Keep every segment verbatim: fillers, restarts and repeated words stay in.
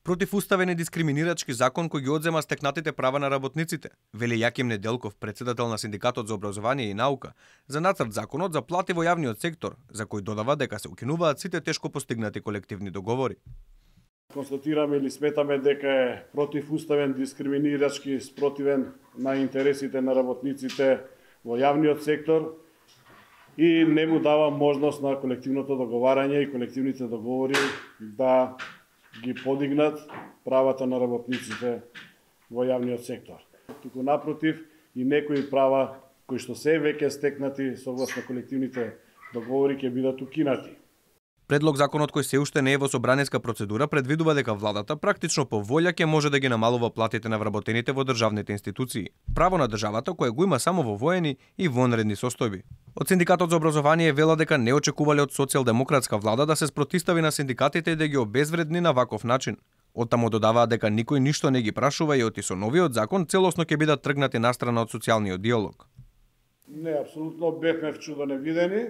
Противуставен и дискриминирачки закон кој ги одзема стекнатите права на работниците, вели Јаким Неделков, председател на Синдикатот за образование и наука, за нацрт законот за плати во јавниот сектор, за кој додава дека се укинуваат сите тешко постигнати колективни договори. Констатираме или сметаме дека е противуставен, дискриминирачки, спротивен на интересите на работниците во јавниот сектор и не му дава можност на колективното договарање и колективните договори да ги подигнат правата на работниците во јавниот сектор. Туку напротив, и некои права кои што се веќе стекнати согласно колективните договори ќе бидат укинати. Предлог законот кој се уште не е во собраниска процедура предвидува дека владата практично по волја ќе може да ги намалува платите на вработените во државните институции. Право на државата кое го има само во воени и вонредни состојби. Од Синдикатот за образование вела дека не очекувале од социјалдемократска влада да се спротистави на синдикатите и да ги обезвредни на ваков начин. Оттаму додаваа дека никој ништо не ги прашува и оти со новиот закон целосно ќе бидат тргнати настрана од социјалниот диалог. Не, апсолутно бевме вчудени видени.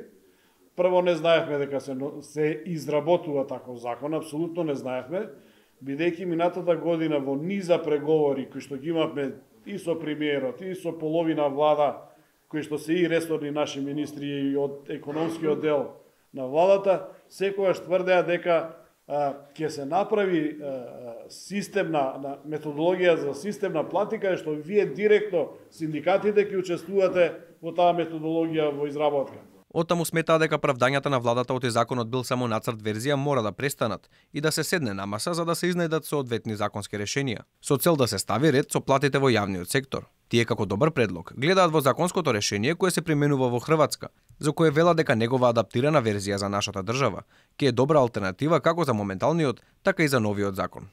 Прво не знаевме дека се, се изработува таков закон, апсолутно не знаевме, бидејќи минатата година во низа преговори кои што ги имавме и со премиерот, и со половина влада, кои што се и ресорни наши министри и од економскиот дел на владата, секогаш тврдеа дека а, ќе се направи а, системна на, методологија за системна платика, што вие директно синдикатите ќе учествувате во таа методологија во изработка. Оттаму сметаа дека правдањата на владата од законот бил само нацрт верзија мора да престанат и да се седне на маса за да се изнајдат соодветни законски решенија, со цел да се стави ред со платите во јавниот сектор. Тие како добар предлог гледаат во законското решение кое се применува во Хрватска, за кое вела дека негова адаптирана верзија за нашата држава ќе е добра алтернатива како за моменталниот, така и за новиот закон.